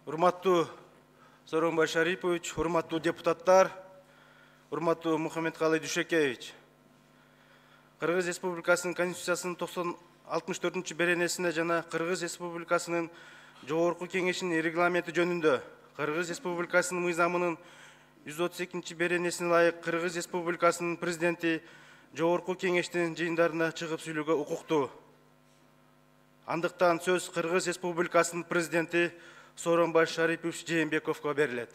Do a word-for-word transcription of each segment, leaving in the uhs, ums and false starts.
Урматтуу Сооронбай Шарипович, урматтуу депутаттар, урматтуу Мухаммедкалый Дүйшөкеевич. Кыргыз Республикасынын Конституциясынын токсон алтымыш төртүнчү беренесине жана Кыргыз Республикасынын Жогорку Кеңешинин регламенти жөнүндө Кыргыз Республикасынын мыйзамынын жүз отуз экинчи беренесине ылайык Кыргыз Республикасынын президенти Жогорку Кеңештин жыйындарына чыгып сүйлөөгө укуктуу. Андыктан сөз Кыргыз Республикасынын президенти Сооронбай Шарипович Жээнбековго берилет.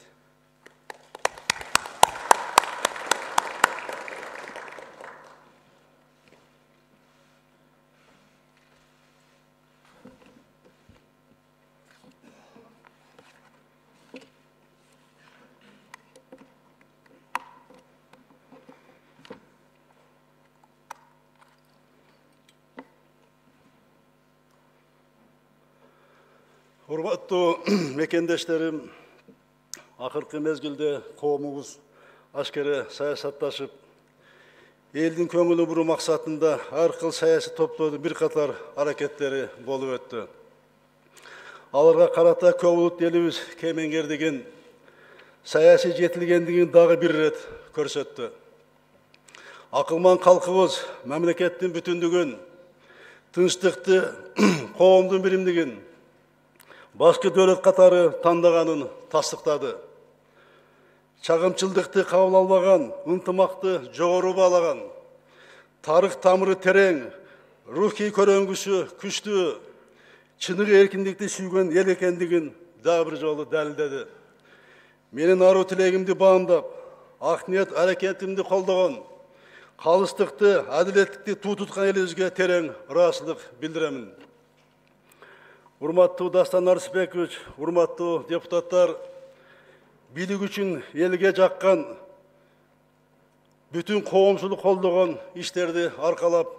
Урматтуу мекендештерим, акыркы мезгилде коомубуз ашкере саясатташып, элдин көңүлүн буруу максатында ар кыл саясий топтордун бир катар аракеттери болуп өттү. Аларга карата көп улуттуу элибиз кемеңгердигин, саясий жетилгендигин дагы бир ирет көрсөттү. Акылман калкыбыз мамлекеттин бүтүндүгүн, тынчтыкты, коомдун биримдигин башкы дөлөт катары тандаганын тастыктады. Чагымчылдыкты кабыл албаган, ынтымакты жогору баалаган, тарых тамыры терең, рухий көрөңгүсү күчтүү, чыныгы эркиндикти сүйгөн эл экендигин дагы бир жолу далилдеди. Менин аруу тилегимди баамдап, ак ниет аракетимди колдогон, калыстыкты, адилеттикти туу туткан элибизге терең ыраазычылык билдиремин. Урматтуу Дастан Арысбекович, урматтуу депутаттар, бийлик үчүн элге жаккан, бүтүн коомчулук колдогон иштерди аркалап,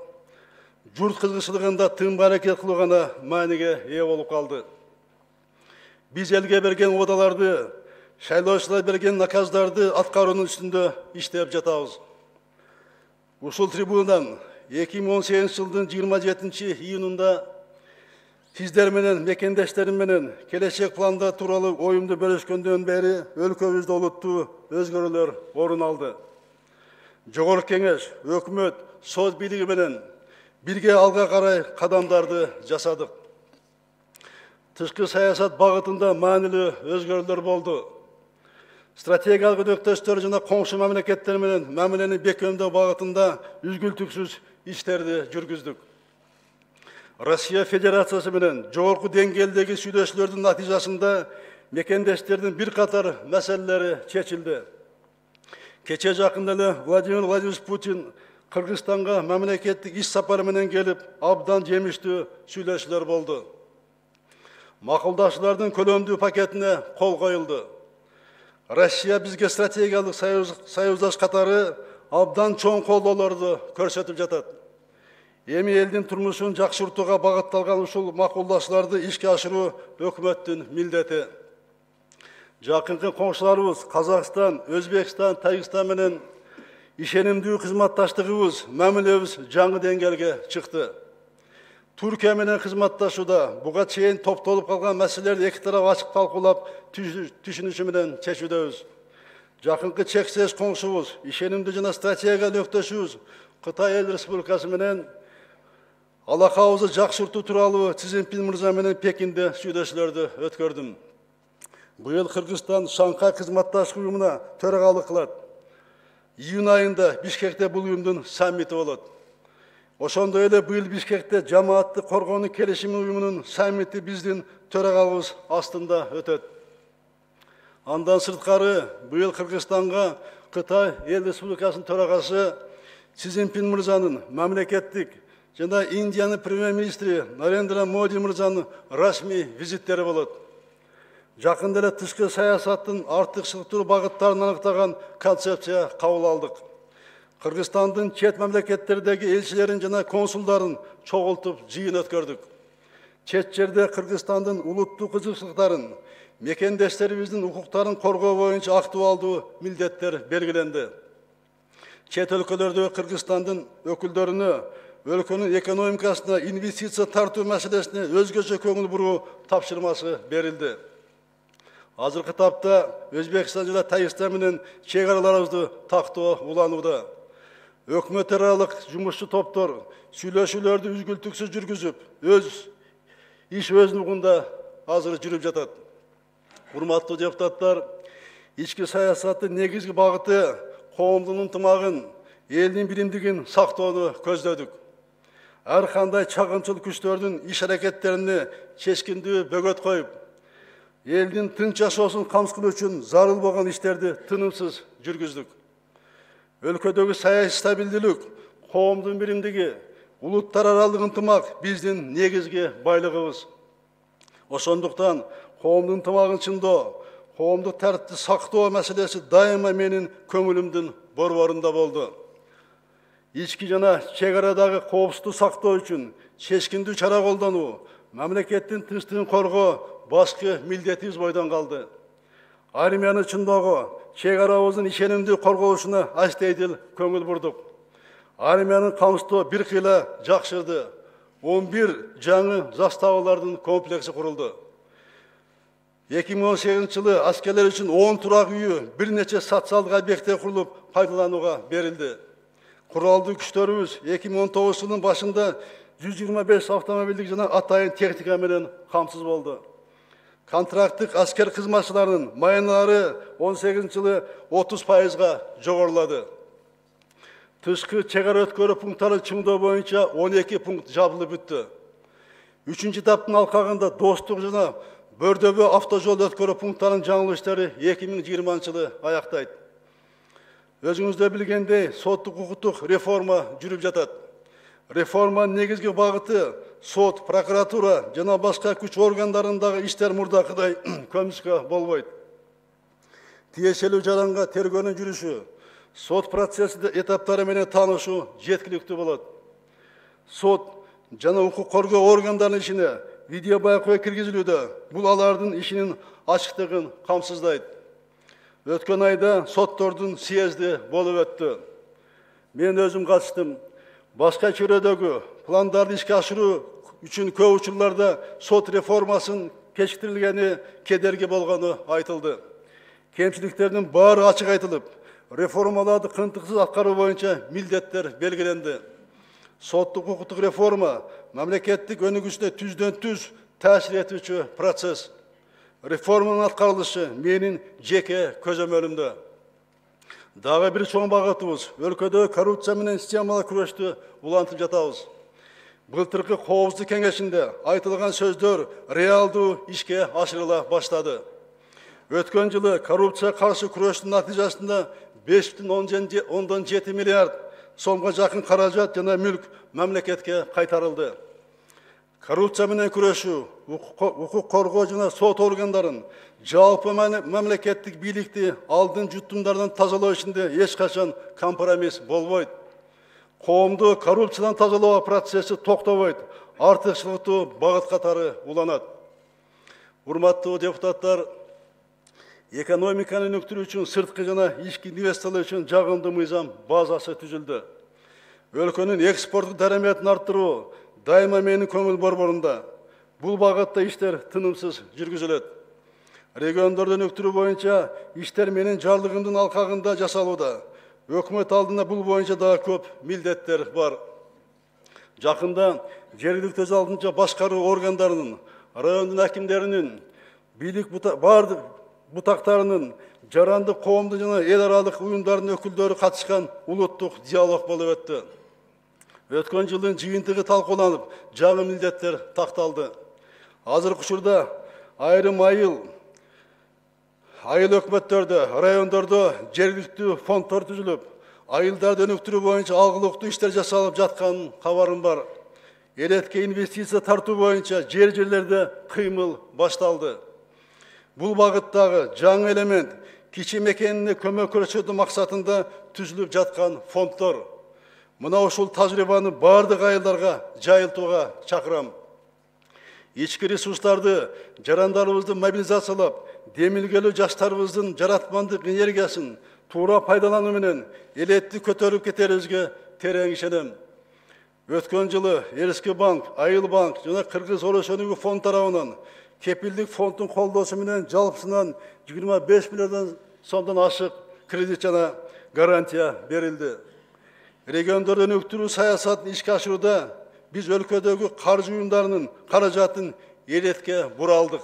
журт кызыкчылыгында тынбай аракет кылуу гана мааниге ээ болуп калды. Биз элге берген убадаларды, шайлоочулар берген наказдарды аткаруунун үстүндө иштеп жатабыз. Ушул трибунадан эки миң он сегизинчи жылдын жыйырма жетинчи июнунда сиздер менен, мекендештерим менен келечек планда тууралуу оюмду бөлүшкөндөн бери өлкөбүздө олуттуу өзгөрүүлөр орун алды. Жогорку Кеңеш, өкмөт, сот бийлиги менен бирге алга карай кадамдарды жасадык. Тышкы саясат багытында маанилүү өзгөрүүлөр болду. Стратегиялык өнөктөштөр жана коңшу мамлекеттер менен мамилени бекемдөө багытында үзгүлтүксүз иштерди жүргүздүк. Россия Федерациясы менен жогорку деңгээлдеги сүйлөшүүлөрдүн натыйжасында мекендештердин бир катар маселелери чечилди. Кече жакында эле Владимир Владимирович Путин Кыргызстанга мамлекеттик иш сапары менен келип, абдан жемиштүү сүйлөшүүлөр болду. Макулдашуулардын көлөмдүү пакетине кол коюлду. Россия бизге стратегиялык союздаш катары абдан чоң колдоолорду көрсөтүп жатат. Эми элдин турмушун жакшыртууга багытталган ушул макулдашууларды ишке ашыруу өкмөттүн милдети. Жакынкы коңшуларыбыз Казакстан, Өзбекстан, Тажикстан менен ишенимдүү кызматташтыгыбыз, мамилебиз жаңы деңгээлге чыкты. Түркия менен кызматташууда буга чейин топтолуп калган маселелерди эки тарап ачык талкуулап, түшүнүшү менен чечүүдөбүз. Жакынкы чексез коңшубуз, ишенимдүү жана стратегиялык өнөктөшүбүз Кытай Эл Республикасы менен алакабызды жакшыртуу тууралуу Си Цзиньпин мырза менен Пекинде сүйлөшүүлөрдү өткөрдүм. Быйыл Кыргызстан Шанхай кызматташтык уюмуна төрагалык кылат. Июнь айында Бишкекте бул уюмдун саммити болот. Ошондой эле быйыл Бишкекте жамаатты коргоонун келишими уюмунун саммити биздин төрагалыбыз астында өтөт. Андан сырткары быйыл Кыргызстанга Кытай Эл Республикасынын төрагасы Си Цзиньпин мырзанын мамлекеттик жана Индиянын премьер-министри Нарендра Моди мырзанын расмий визиттери болот. Жакында эле тышкы саясаттын артыкчылыктуу багыттарын аныктаган концепция кабыл алдык. Кыргызстандын чет мамлекеттердеги элчилерин жана консулдарын чогултуп жыйын өткөрдүк. Чет жерде Кыргызстандын улуттук кызыкчылыктарын, мекендештерибиздин укуктарын коргоо боюнча актуалдуу милдеттер белгиленди. Чет өлкөлөрдө Кыргызстандын өкүлдөрүнө өлкөнүн экономикасына инвестиция тартуу маселесине өзгөчө көңүл буруу тапшырмасы берилди. Азыркы тапта Өзбекстан жана Тажикстан менен чек араларыбызды тактоо уланууда. Өкмөт аралык жумушчу топтор сүйлөшүүлөрдү үзгүлтүксүз жүргүзүп, өз иш өз нугунда азыр жүрүп жатат. Урматтуу депутаттар, ички саясаттын негизги багыты коомдун ынтымагын, элдин биримдигин сактоону көздөдүк. Ар кандай чагымчыл күчтөрдүн иш аракеттерине чечкиндүү бөгөт коюп, элдин тынч жашоосун камсыз үчүн зарыл болгон иштерди тынымсыз жүргүздүк. Өлкөдөгү саясий стабилдүүлүк, коомдун биримдиги, улуттар аралык ынтымак биздин негизги байлыгыбыз. Ошондуктан коомдун ынтымагын чындоо, коомдук тартипти сактоо маселеси дайыма менин көңүлүмдүн борборунда болду. Ички жана чек арадагы коопсуздукту сактоо үчүн чечкиндүү чара колдонуу, мамлекеттин тынчтыгын коргоо башкы милдетибиз бойдон калды. Армияны чындоого, чек арабыздын ишенимдүү корголушуна астейдил көңүл бурдук. Армиянын камсыздоо бир кыйла жакшырды. он бир жаңы заставалардын комплекси курулду. эки миң он сегизинчи жылы аскерлер үчүн он турак үйү, бир нече социалдык объекттер курулуп пайдаланууга берилди. Куралдуу күчтөрүбүз эки миң он тогузунчу жылдын башында жүз жыйырма беш автомобилдик жана атайын техника менен камсыз болду. Контракттык аскер кызматчыларынын майыналары он сегизинчи жылы отуз пайызга жогорулады. Тышкы чек ара өткөрүү пункттарын чыңдоо боюнча он эки пункт жабылып бүттү. Үчүнчү этаптын алкагында Достук жана Бөрдөбө автожол өткөрүү пункттарынын жаңылыш иштери эки миң жыйырманчы жылы аяктайт. Өзүңүздөр билгендей, соттук укуктук реформа жүрүп жатат. Реформанын негизги багыты сот, прокуратура жана башка күч органдарындагы иштер мурдакыдай көмүскө болбойт. Тиешелүү жаранга тергөөнүн жүрүшү, сот процессинде этаптары менен таанышуу жеткиликтүү болот. Сот жана укук коргоо органдарынын ишине видео байкоо киргизилүүдө бул алардын ишинин ачыктыгын камсыздайт. Өткөн айда соттордун съезди болуп өттү. Мен өзүм катыштым. Башка чөйрөдөгү пландарды ишке ашыруу үчүн көп учурларда сот реформасын кечиктирилгени кедерги болгону айтылды. Кемчиликтердин баары ачык айтылып, реформаларды кынтыксыз аткаруу боюнча милдеттер белгиленди. Соттук укуктук реформа мамлекеттик өнүгүшүнө түздөн түз таасир этүүчү процесс. Реформанын аткарылышы менин жеке көзөмөлүмдө. Дагы бир чоң багытыбыз өлкөдө коррупция менен системалык күрөштү улантып жатабыз. Былтыркы коопсуздук кеңешинде айтылган сөздөр реалдуу ишке ашырыла баштады. Өткөн жылы коррупция каршы күрөштүн натыйжасында беш бүтүн ондон жети миллиард сомго жакын каражат жана мүлк мамлекетке кайтарылды. Коррупция менен күрөшүү, укук коргоо жана сот органдарын, жалпы мамлекеттик бийликти алдын жутумдардан тазалоо ишинде эч качан компромисс болбойт. Коомду коррупциядан тазалоо процесси токтобойт, артыкчылыктуу багыт катары уланат. Урматтуу депутаттар, экономиканы өнүктүрүү үчүн сырткы жана ички инвестициялар үчүн жагымдуу мыйзам базасы түзүлдү. Өлкөнүн экспорттук дараметин арттыруу дайыма менин көңүл борборунда. Бул багытта иштер тынымсыз жүргүзүлөт. Региондорду өнүктүрүү боюнча иштер менин жарлыгымдын алкагында жасалууда. Өкмөт алдында бул боюнча дагы көп милдеттер бар. Жакында жергиликтүү өз алдынча башкаруу органдарынын, райондун акимдеринин, бийлик бардык бутактарынын, жарандык коомдун жана эл аралык уюмдардын өкүлдөрү катышкан улуттук диалог болуп өттү. Өткөн жылдын жыйынтыгы талкууланып, жаңы милдеттер такталды. Азыркы учурда айрым айыл, айыл өкмөттөрдө, райондордо жергиликтүү фонддор түзүлүп, айылдарды өнүктүрүү боюнча алгылыктуу иштер жасалып жатканын кабарым бар. Элетке инвестиция тартуу боюнча жер жерлерде кыймыл башталды. Бул багыттагы жаңы элемент кичи мекенине көмөк көрсөтүү максатында түзүлүп жаткан фонддор. Мына ушул тажрыйбаны бардык айылдарга жайылтууга чакырам. Ички ресурстарды, жарандарыбызды мобилизациялап, демилгелүү жаштарыбыздын жаратмандык энергиясын туура пайдалануу менен элетти көтөрүп кетерибизге терең ишенем. Өткөн жылы Эрский банк, Айыл банк жана Кыргыз Орос өнүгүү фонд тарабынан кепилдик фонддун колдоосу менен жалпысынан жыйырма беш миллиард сомдон ашык кредит жана гарантия берилди. Региондордун өнүктүрүү саясатын ишке ашырууда биз өлкөдөгү каржы уюмдарынын каражатын элетке буралдык.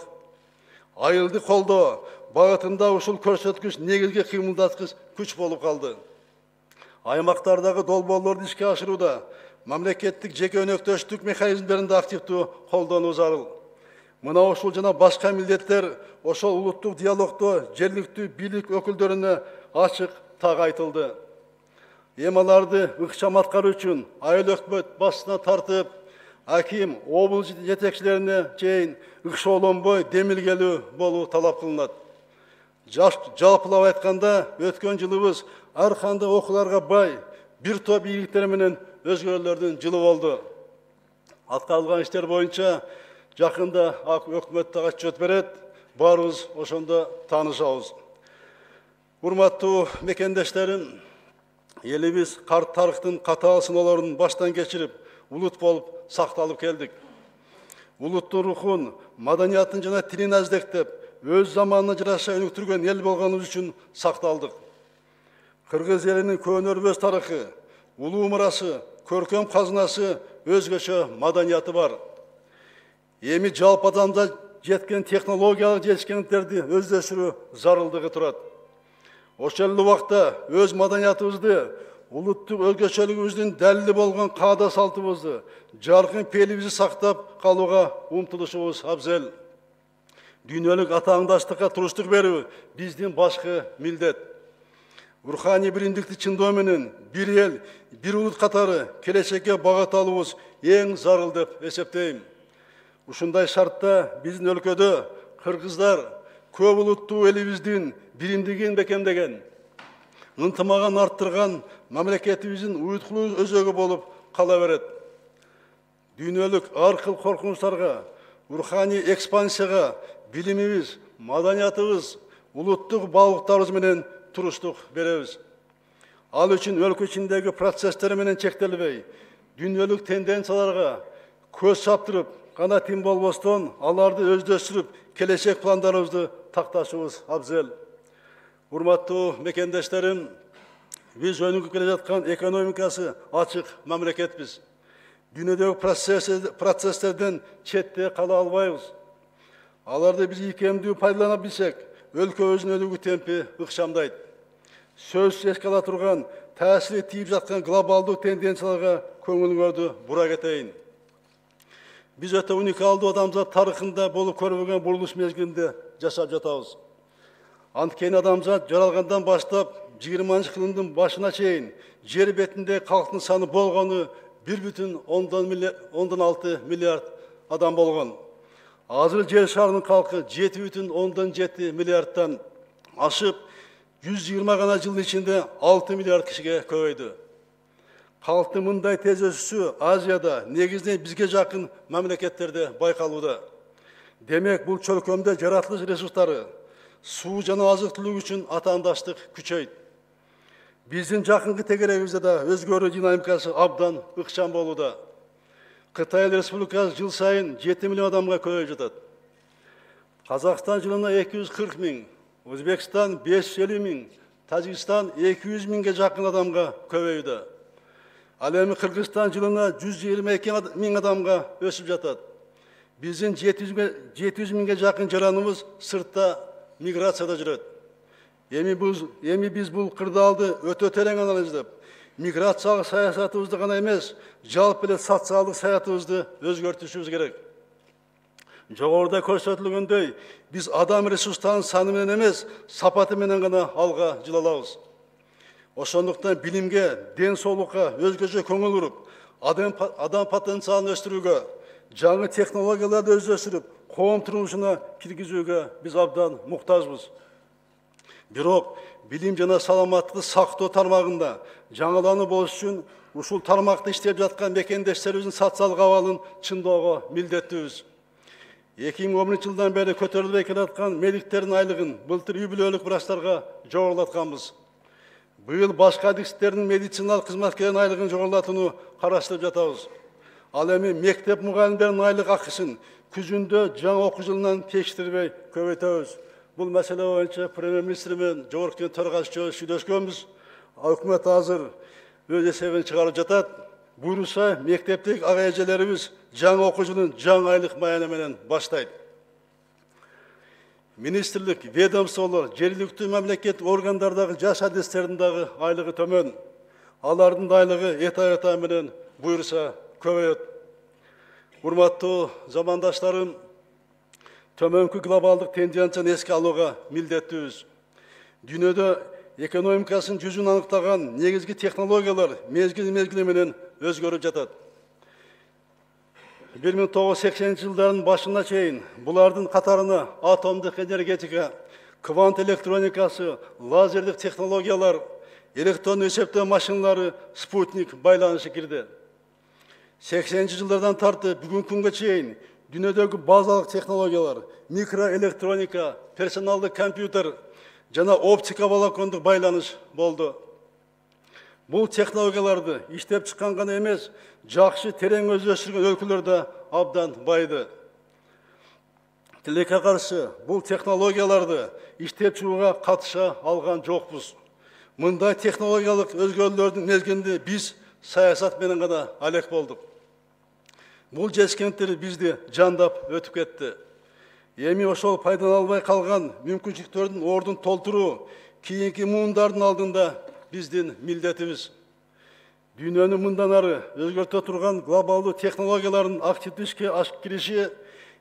Айылды колдоо багытында ушул көрсөткүч негизги кыймылдаткыч күч болуп калды. Аймактардагы долбоорлорду ишке ашырууда мамлекеттик жеке өнөктөштүк механизмдеринде активдүү колдонуу зарыл. Мына ушул жана башка милдеттер ошол улуттук диалогдо жергиликтүү бийлик өкүлдөрүнө ачык так айтылды. Эми аларды ыкчам аткаруу үчүн айыл өкмөт башына тартып, аким, облус жетекчилерине чейин ыкшоолонбой демилгелүү болуу талап кылынат. Жалпылап айтканда, өткөн жылыбыз ар кандай окууларга бай, бир топ ийгиликтер менен өзгөрүүлөрдүн жылы болду. Аткарылган иштер боюнча жакында өкмөт да отчет берет, баарыбыз ошондо таанышабыз. Урматтуу мекендештерим, элибиз карт тарыхтын катаал сыноолорун баштан кечирип, улут болуп сакталып келдик. Улуттун рухун, маданиятын жана тилин аздектеп, өз заманына жараша өнүктүргөн эл болгонубуз үчүн сакталдык. Кыргыз элинин көөнөрбөс тарыхы, улуу мурасы, көркөм казынасы, өзгөчө маданияты бар. Эми жалпы адамда жеткен технологиялык жетишкендиктерди өздөштүрүү зарылдыгы турат. Ошол эле убакта өз маданиятыбызды, улуттук өзгөчөлүгүбүздүн далили болгон каада салтыбызды, жаркын пелибизди сактап калууга умтулушубуз абзел. Дүйнөлүк атааңдаштыкка туруштук берүү биздин башкы милдет. Руханий биримдикти чындоо менен бир эл, бир улут катары келечекке багыт алуубуз эң зарыл деп эсептейм. Ушундай шартта биздин өлкөдө кыргыздар көп улуттуу элибиздин биримдигин бекемдеген, ынтымагын арттырган мамлекетибиздин уюткулуу өзөгү болуп кала берет. Дүйнөлүк ар кыл коркунучтарга, руханий экспансияга билимибиз, маданиятыбыз, улуттук баалуулуктарыбыз менен туруштук беребиз. Ал үчүн өлкө ичиндеги процесстер менен чектелбей, дүйнөлүк тенденцияларга көз чаптырып гана тим болбостон, аларды өздөштүрүп, келечек пландарыбызды такташыбыз абзел. Урматтуу мекендештерим, биз өнүгүп келе жаткан экономикасы ачык мамлекетпиз. Дүйнөдөгү процесстерден четте кала албайбыз. Аларды биз ийкемдүү пайдалана билсек, өлкөбүздүн өнүгүү темпи ыкчамдайт. Сөзсүз эске ала турган, таасири тийип жаткан глобалдуу тенденцияларга көңүлүңөрдү бура кетейин. Биз өтө уникалдуу адамзат тарыхында болуп көрбөгөн бурулуш мезгилинде жашап жатабыз. Анткени адамзат жаралгандан баштап жыйырманчы кылымдын башына чейин жер бетинде калктын саны болгону бир бүтүн ондон алты миллиард адам болгон. Азыр жер шарынын калкы жети бүтүн ондон жети миллиардтан ашып, жүз жыйырма гана жылдын ичинде алты миллиард кишиге көбөйдү. Калктын мындай тез өсүшү Азияда, негизинен бизге жакын мамлекеттерде байкалууда. Демек, бул чөлкөмдө жаратылыш ресурстары, суу жана азык-түлүк үчүн атаандаштык күчөйт. Биздин жакынкы тегерегибизде да өзгөрүү динамикасы абдан ыкчам болууда. Кытай Республикасы жыл сайын жети миллион адамга көбөйүп жатат. Казакстан жылына эки жүз кырк миң, Өзбекстан беш жүз элүү миң, Тажикстан эки жүз миңге жакын адамга көбөйүүдө. Ал эми Кыргызстан жылына жүз жыйырма эки миң адамга өсүп жатат. Биздин жети жүз миңге жакын жараныбыз сыртта миграцияда жүрөт. Эми биз бул кырдаалды өтө терең анализдеп, миграциялык саясатыбызды гана эмес, жалпы эле социалдык саятыбызды өзгөртүшүбүз керек. Жогоруда көрсөтүлгөндөй, биз адам ресурстарынын саны менен эмес, сапаты менен гана алга жылалабыз. Ошондуктан билимге, ден соолукка өзгөчө көңүл буруп, адам потенциалын өстүрүүгө, жаңы технологияларды өздөштүрүп, коом турмушуна киргизүүгө биз абдан муктажбыз. Бирок билим жана саламаттыкты сактоо тармагында жаңылануу болуш үчүн ушул тармакта иштеп жаткан мекендештерибиздин социалдык абалын чыңдоого милдеттүүбүз. эки миң он биринчи жылдан бери көтөрүлбөй келаткан медиктердин айлыгын былтыр үй бүлөлүк врачтарга жогорулатканбыз. Быйыл башка адистердин медициналык кызматкердин айлыгын жогорулатууну караштырып жатабыз. Ал эми мектеп мугалимдеринин айлык акысын күзүндө жаңы окуу жылынан кечиктирбей көбөйтөбүз. Бул маселе боюнча премьер-министр менен жогорку кеңеш төрагасы сүйлөшкөнбүз. Өкмөт азыр өз эсебин чыгарып жатат. Буюрса, мектептик ага эжелерибиз жаңы окуу жылын жаңы айлык маяна менен баштайт. Министрлик, ведомстволор, жергиликтүү мамлекеттик органдардагы жаш адистердин дагы айлыгы төмөн. Алардын да айлыгы эта-эта менен буюрса көбөйөт. Урматтуу замандаштарым, төмөнкү глобалдык тенденцияны эске алууга милдеттүүбүз. Дүйнөдө экономикасын жүзүн аныктаган негизги технологиялар мезгил-мезгили менен өзгөрүп жатат. бир миң тогуз жүз сексенинчи жылдардын башына чейин булардын катарына атомдук энергетика, квант электроникасы, лазердик технологиялар, электрондук эсептөө машиналары, спутник байланышы кирди. сексенинчи жылдардан тартып бүгүнкү күнгө чейин дүйнөдөгү базалык технологиялар, микроэлектроника, персоналдык компьютер жана оптика волокондук байланыш болду. Бул технологияларды иштеп чыккан гана эмес, жакшы терең өздөштүргөн өлкөлөр да абдан байды. Тилекке каршы бул технологияларды иштеп чыгууга катыша алган жокпуз. Мындай технологиялык өзгөрүүлөрдүн мезгилинде биз саясат менен гана алек болдук. Бул жетишкендер бизди жандап өтүп кетти. Эми ошол пайдалана калган мүмкүнчүлүктөрдүн ордун толтуруу кийинки муундардын алдында биздин милдетибиз. Дүйнөнү мындан ары өзгөртө турган глобалдуу технологиялардын активдүү ишке ашып кириши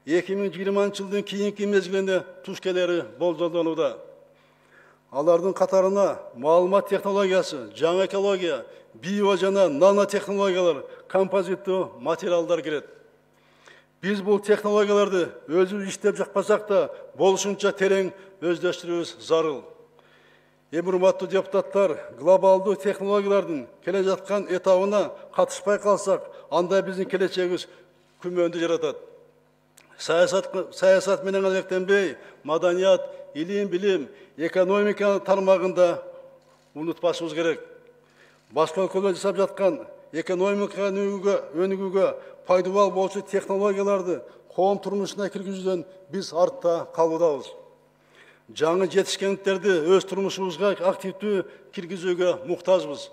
эки миң жыйырманчы жылдын кийинки мезгилине туш келери болжолдонууда. Алардын катарына маалымат технологиясы, жаңы экология, био жана нанотехнологиялар, композиттүү материалдар кирет. Биз бул технологияларды өзүбүз иштеп жакпасак да болушунча терең өздөштүрүүбүз зарыл. Эми урматтуу депутаттар, глобалдуу технологиялардын келе жаткан этабына катышпай калсак, анда биздин келечегибиз күмөндү жаратат. Саясат, саясат менен алектенбей, маданият, илим, билим, экономика тармагында унутпашыбыз керек. Башка өлкөлөр жасап жаткан экономика өнүгүүгө пайдалуу болчу технологияларды коом турмушуна киргизүүдөн биз артта калуудабыз. Жаңы жетишкендерди өз турмушубузга активдүү киргизүүгө муктажбыз.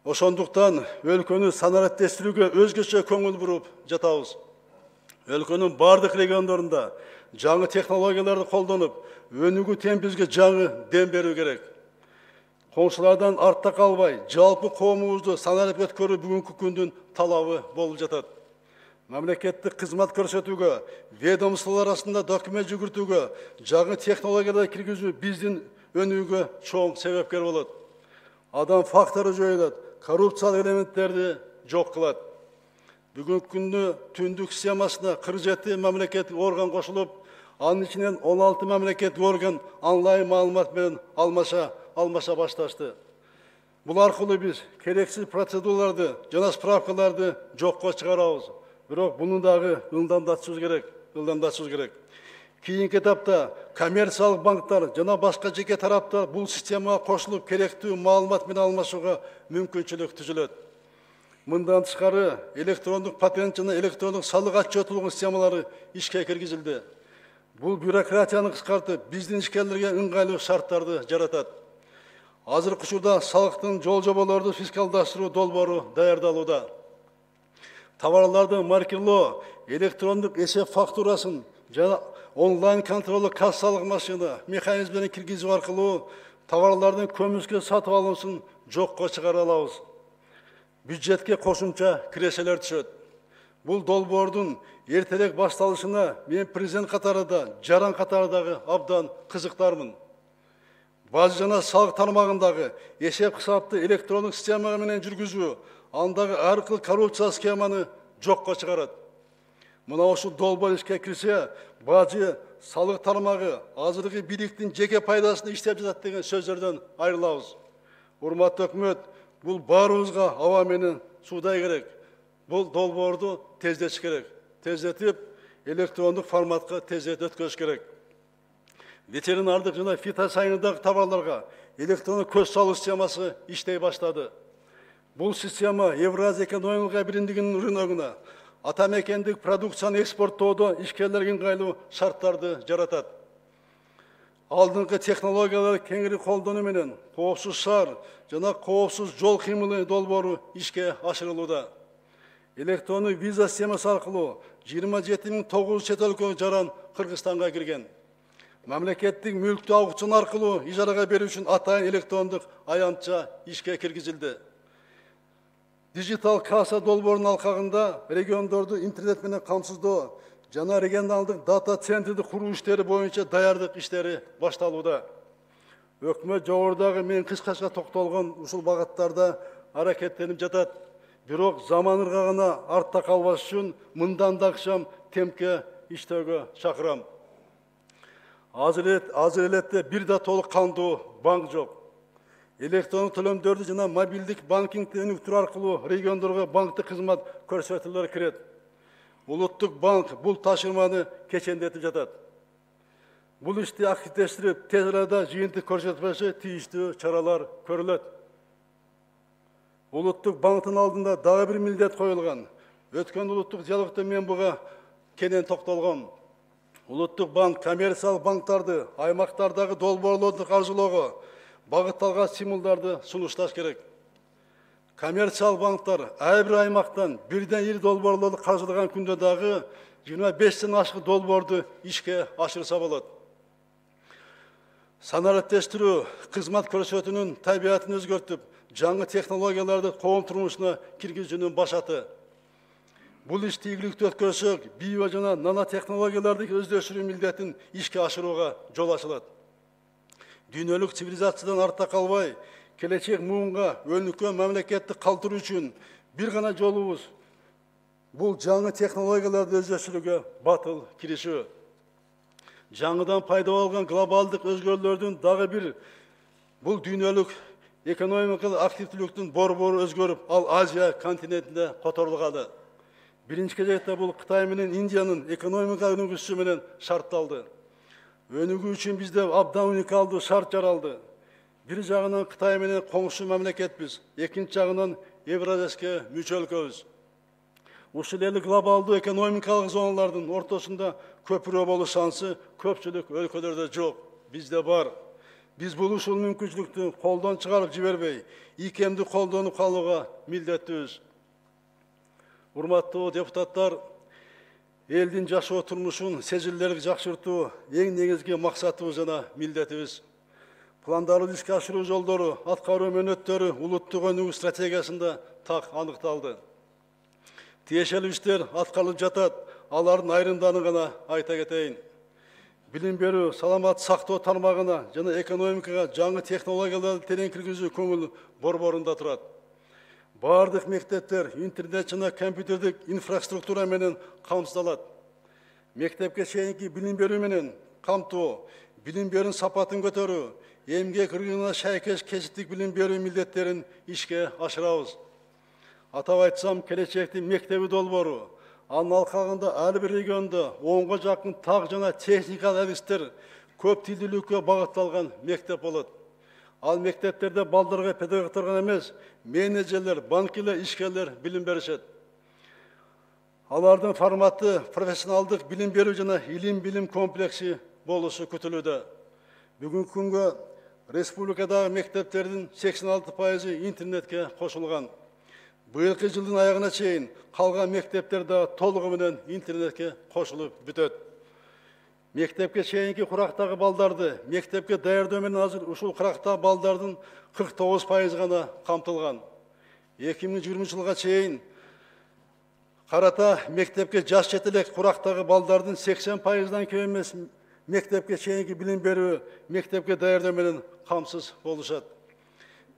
Ошондуктан өлкөнү санариптештирүүгө өзгөчө көңүл буруп жатабыз. Өлкөнүн бардык региондорунда жаңы технологияларды колдонуп, өнүгүү темпибизге жаңы дем берүү керек. Коңшулардан артта калбай, жалпы коомубузду саналып өткөрүү бүгүнкү күндүн талабы болуп жатат. Мамлекеттик кызмат көрсөтүүгө, ведомстволор арасында документ жүгүртүүгө, жаңы технологияларды киргизүү биздин өнүгүүгө чоң себепкер болот. Адам фактору жоюлат, коррупциялык элементтерди жок кылат. Бүгүнкү күндө түндүк системасына кырк жети мамлекеттик орган кошулуп, анын ичинен он алты мамлекеттик орган онлайн маалымат менен алмаша алмаша башташты. Бул аркылуу биз керексиз процедураларды жана справкаларды жокко чыгарабыз. Бирок буну дагы ылдамдатышыбыз керек, ылдамдатышыбыз керек. Кийинки этапта коммерциялык банктар жана башка жеке тараптар бул системага кошулуп керектүү маалымат менен алмашууга мүмкүнчүлүк түзүлөт. Мындан тышкары электрондук патент жана электрондук салык отчеттуулук системалары ишке киргизилди. Бул бюрократияны кыскартып, биздин ишкерлерге ыңгайлуу шарттарды жаратат. Азыркы учурда салыктын жол жоболорду фискалдаштыруу долбоору даярдалууда. Товарларды маркерлоо, электрондук эсеп фактурасын жана онлайн контролдук кассалык машина механизмдерин киргизүү аркылуу товарлардын көмүскө сатып алынышын жокко чыгара алабыз. Бюджетке кошумча киреселер түшөт. Бул долбоордун эртерээк башталышына мен президент катарында, жаран катарындагы абдан кызыктармын. Бажы жана салык тармагындагы эсеп кысапты электрондук система менен жүргүзүү, андагы ар кыл коррупция схеманы жокко чыгарат. Мына ушул долбоор ишке кирсе, бажы салык тармагы азыркы бийликтин жеке пайдасына иштеп жатат деген сөздөрдөн айрылабыз. Урматтуу өкмөт, бул баарыбызга аба менен суудай керек. Бул долбоорду тездетиш керек. Тездетип, электрондук форматка тездетип өткөрүш керек. Ветеринардык жана фитосанитардык товарларга электрондук көз салуу системасы иштей баштады. Бул система Евразия экономикалык биримдигинин рыногуна, ата мекендик продукцияны экспорттоодо ишкерлерге ыңгайлуу шарттарды жаратат. Алдыңкы технологияларды кеңири колдонуу менен коопсуз шаар жана коопсуз жол кыймылы долбоору ишке ашырылууда. Электрондук виза системасы аркылуу жыйырма жети миң тогуз жүз чет өлкөгө жаран Кыргызстанга кирген. Мамлекеттик мүлктү аукцион аркылуу ижарага берүү үчүн атайын электрондук аянтча ишке киргизилди. Дижитал касса долбоорунун алкагында региондорду интернет менен камсыздоо жана регионалдык дата центрди куруу иштери боюнча даярдык иштери башталууда. Өкмөт жогорудагы мен кыскача токтолгон ушул багыттарда аракеттенип жатат. Бирок заман ыргагына артта калбаш үчүн мындан да акшам темпке иштөөгө чакырам. Азыр элетте бир да толук кандуу банк жок. Электрондук төлөмдөрдү жана мобилдик банкингди өнүктүрүү аркылуу региондорго банктык кызмат көрсөтүүлөр кирет. Улуттук банк бул ташырманы кечендетип жатат. Бул ишти активдештирип, тез арада жыйынтык көрсөтпөсө тийиштүү чаралар көрүлөт. Улуттук банктын алдында дагы бир милдет коюлган. Өткөн улуттук диалогдо мен буга кенен токтолгом. Улуттук банк коммерциялык банктарды аймактардагы долбоорлорду каржылоого багытталган стимулдарды сунушташ керек. Коммерциялык банктар ар бир аймактан бирден ири долбоорлорду каржылаган күндө дагы жыйырма бештен ашык долбоорду ишке ашырса болот. Санариптештирүү кызмат көрсөтүүнүн табиятын өзгөртүп, жаңы технологияларды коом турмушуна киргизүүнүн башаты. Бул ишти ийгиликтүү өткөрсөк, био жана нано технологияларды өздөштүрүү милдетин ишке ашырууга жол ачылат. Дүйнөлүк цивилизациядан артта калбай, келечек муунга өнүккөн мамлекетти калтыруу үчүн бир гана жолубуз бул жаңы технологияларды өздөштүрүүгө батыл киришүү. Жаңыдан пайда болгон глобалдык өзгөрүүлөрдүн дагы бир бул дүйнөлүк экономикалык активдүүлүктүн борбору өзгөрүп, ал Азия континентинде которулганы. Биринчи кезекте бул Кытай менен Индиянын экономика өнүгүүсү менен шартталды. Өнүгүү үчүн бизде абдан уникалдуу шарт жаралды. Бир жагынан Кытай менен коңшу мамлекетпиз, экинчи жагынан Евразияске мүчө өлкөбүз. Ушул эле глобалдуу экономикалык зоналардын ортосунда көпүрө болуу шансы көпчүлүк өлкөлөрдө жок, бизде бар. Биз бул ушул мүмкүнчүлүктү колдон чыгарып жибербей, ийкемди колдонуп калууга милдеттүүбүз. Урматтуу депутаттар, элдин жашоо турмушун сезилерлик жакшыртуу эң негизги максатыбыз жана милдетибиз. Пландарды ишке ашыруу жолдору, аткаруу мөөнөттөрү улуттук өнүгүү стратегиясында так аныкталды. Тиешелүү иштер аткарылып жатат, алардын айрымдарын гана айта кетейин. Билим берүү, саламат сактоо тармагына жана экономикага жаңы технологияларды терең киргизүү көңүл борборунда турат. Бардык мектептер интернет жана компьютердик инфраструктура менен камсыздалат. Мектепке чейинки билим берүү менен камтоо, билим берүүнүн сапатын көтөрүү, эмгек ыргыгына шайкеш кесиптик билим берүү милдеттерин ишке ашырабыз. Атап айтсам, келечектин мектеби долбоору, анын алкагында ар бир региондо онго жакын так жана техникалык адистер көп тилдүүлүккө багытталган мектеп болот. Ал мектептерде балдарга педагогдор гана эмес, менеджерлер, банкирлер, ишкерлер билим беришет. Алардын форматы профессионалдык билим берүү жана илим-билим комплекси болушу күтүлүүдө. Бүгүнкү күнгө республикадагы мектептердин сексен алты пайызы интернетке кошулган. Быйылкы жылдын аягына чейин калган мектептер да толугу менен интернетке кошулуп бүтөт. Мектепке чейинки курактагы балдарды мектепке даярдоо менен азыр ушул курактагы балдардын кырк тогуз пайызы гана камтылган. эки миң жыйырманчы жылга чейин карата мектепке жаш жетелек курактагы балдардын сексен пайыздан кем эмес мектепке чейинки билим берүү, мектепке даярдоо менен камсыз болушат.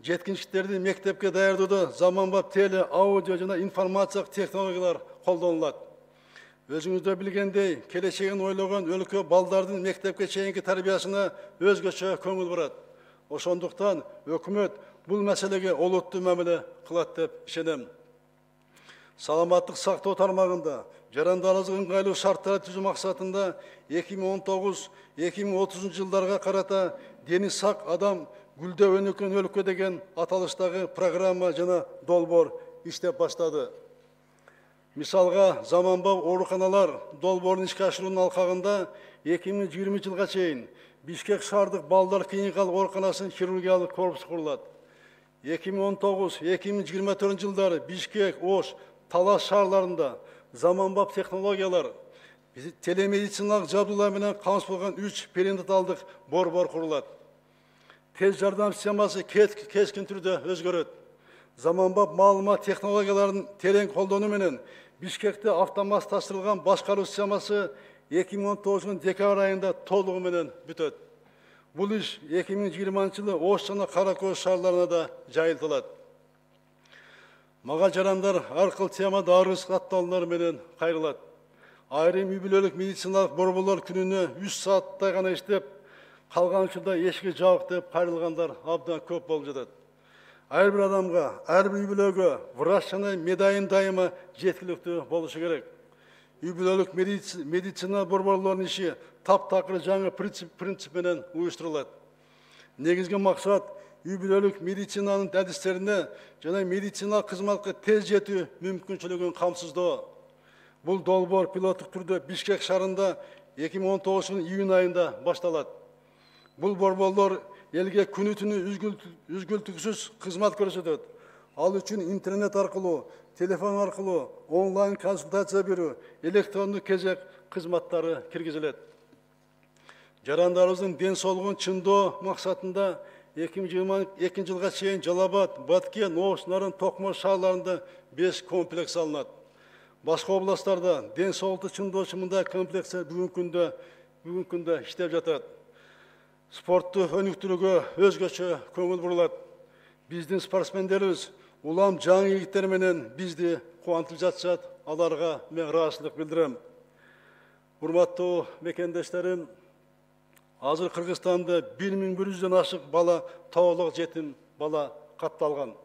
Жеткинчектерди мектепке даярдоодо заманбап теле, аудио жана информациялык технологиялар колдонулат. Өзүңүздөр билгендей, келечегин ойлогон өлкө балдардын мектепке чейинки тарбиясына өзгөчө көңүл бурат. Ошондуктан өкмөт бул маселеге олуттуу мамиле кылат деп ишенем. Саламаттык сактоо тармагында жарандарлык ыңгайлуу шарттарды түзүү максатында эки миң он тогуз эки миң отузунчу жылдарга карата дени сак адам гүлдөп өнүккөн өлкө деген аталыштагы программа жана долбоор иштеп баштады. Мисалга, заманбап ооруканалар долбоорун ишке ашыруунун алкагында эки миң жыйырманчы жылга чейин Бишкек шаардык балдар клиникалык ооруканасынын хирургиялык корпусу курулат. эки миң он тогуз эки миң жыйырма төртүнчү жылдары Бишкек, Ош, Талас шаарларында заманбап технологиялар, телемедициналык жабдуулар менен камсыздалган үч перинаталдык борбор курулат. Тез жардам системасы кескин түрдө өзгөрөт. Заманбап маалымат технологияларын терең колдонуу менен Бишкекте автоматташтырылган башкаруу системасы эки миң он тогузунун декабрь айында толугу менен бүтөт. Бул иш эки миң жыйырманчы жылы Ош жана Кара Көз шаарларына да жайылтылат. Мага жарандар ар кыл темада арыз катталуулар менен кайрылат. Айрым үй бүлөлүк медициналык борборлор күнүнө үч сааттай гана иштеп, калган учурда эшикти жабык деп кайрылгандар абдан көп болуп жатат. Ар бир адамга, ар бир үй бүлөгө врач жана медайым дайыма жеткиликтүү болушу керек. Үй бүлөлүк медицина борборлорунун иши таптакыр жаңы принцип менен уюштурулат. Негизги максат үй бүлөлүк медицинанын адистерине жана медициналык кызматка тез жетүү мүмкүнчүлүгүн камсыздоо. Бул долбоор пилоттук түрдө Бишкек шаарында эки миң он тогузунун июнь айында башталат. Бул борборлор элге күнү түнү үзгүлтүксүз кызмат көрсөтөт. Ал үчүн интернет аркылуу, телефон аркылуу, онлайн консультация берүү, электрондук кезек кызматтары киргизилет. Жарандарыбыздын ден соолугун чыңдоо максатында эки миң жыйырма экинчи жылга чейин Жалал Абад, Баткен, Ош, Нарын, Токмош шаарларында беш комплекс салынат. Башка областтарда ден соолукту чыңдоочу мындай комплекстер бүгүнкү күндө бүгүнкү күндө иштеп жатат. Спортту өнүктүрүүгө өзгөчө көңүл бурулат. Биздин спортсмендерибиз улам жаңы ийгиттер менен бизди кубантып жатышат. Аларга мен ыраазычылык билдирем. Урматтуу мекендештерим, азыр Кыргызстанда бир миң бир жүздөн ашык бала тоолук жетим бала катталган.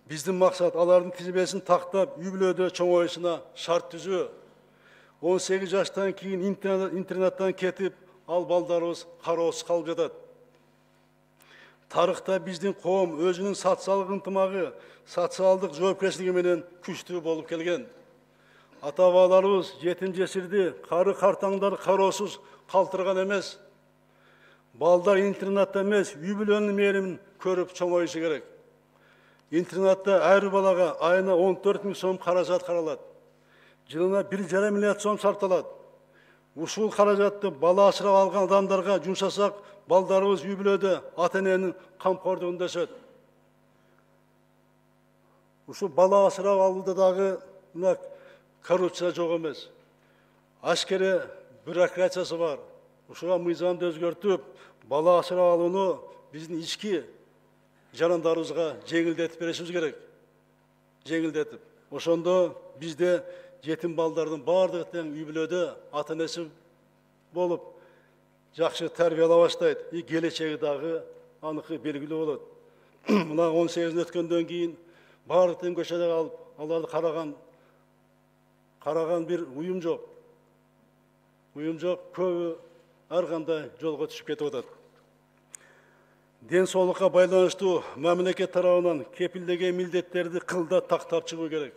Биздин максат алардын тизмесин тактап, үй бүлөдө чоңоюшуна шарт түзүү. он сегиз жаштан кийин интернаттан кетип, ал балдарыбыз кароосуз калып жатат. Тарыхта биздин коом өзүнүн социалдык ынтымагы, социалдык жоопкерчилиги менен күчтүү болуп келген. Ата-бабаларыбыз жетим жесирди, кары картаңдар кароосуз калтырган эмес. Балдар интернатта эмес, үй бүлөнүн мээримин көрүп чоңоюшу керек. Интернатта ар балага айына он төрт миң сом каражат каралат. Жылына бир жарым миллиард сом сарпталат. Ушул каражатты бала асырап алган адамдарга жумшасак, балдарыбыз үй бүлөдө ата-эненин камкордугунда өсөт. Ушул бала асырап алууда дагы мына коррупция жок эмес. Ашкере бюрократиясы бар. Ушуга мыйзамды өзгөртүп, бала асырап алууну биздин ички жарандарыбызга жеңилдетип беришибиз керек. Жеңилдетип. Ошондо бизде жетим балдардын баардыгы тең үй бүлөдө ата-энеси болуп, жакшы тарбиялай баштайт. И келечеги дагы аныкы белгилүү болот. Мына он сегизин өткөндөн кийин баардык тең көчөдө калып, аларды караган караган бир уюм жок. Уюм жок, көбү ар кандай жолго түшүп кетип атат. Ден соолукка байланыштуу мамлекет тарабынан кепилдеген милдеттерди кылда тактап чыгуу керек.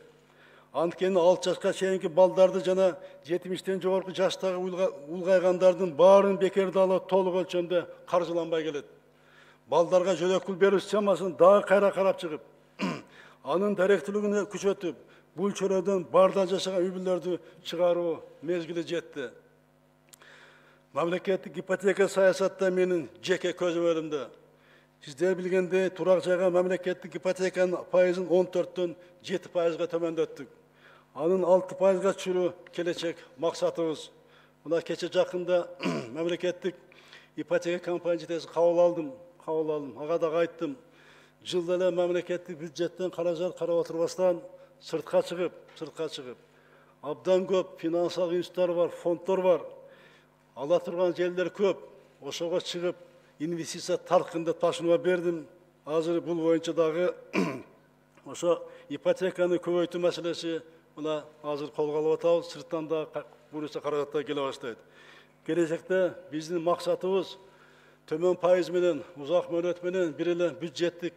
Анткени алты жашка чейинки балдарды жана жетимиштен жогорку жаштагы улгайгандардын баарын бекерде ала толук өлчөмдө каржыланбай келет. Балдарга жөнөкүл берүү системасын дагы кайра карап чыгып, анын даректүүлүгүн күчөтүп, бул чөйрөдөн бардан жашаган үй бүлөлөрдү чыгаруу мезгили жетти. Мамлекеттик ипотека саясатта менин жеке көзөмөлүмдө. Сиздер билгендей, турак жайга мамлекеттик ипотеканын пайызын он төрттөн жети пайызга төмөндөттүк. Анын алты пайызга түшүрүү келечек максатыбыз. Мына кече жакында мамлекеттик ипотека компания жетекчиси кабыл алдым, кабыл алдым. Ага дагы айттым. Жылда эле мамлекеттик бюджеттен каражат карап отурбастан сыртка чыгып, сыртка чыгып. Абдан көп финансылык институттар бар, фонддор бар. Ала турган жерлер көп. Ошого чыгып, инвестиция таркынды ташынуга бердим. Азыр бул боюнча дагы ошо ипотеканы көбөйтүү маселеси мына азыр колго алып атабыз. Сырттан да буюрса каражаттар келе баштайт. Келечекте биздин максатыбыз төмөн пайыз менен, узак мөөнөт менен бир эле бюджеттик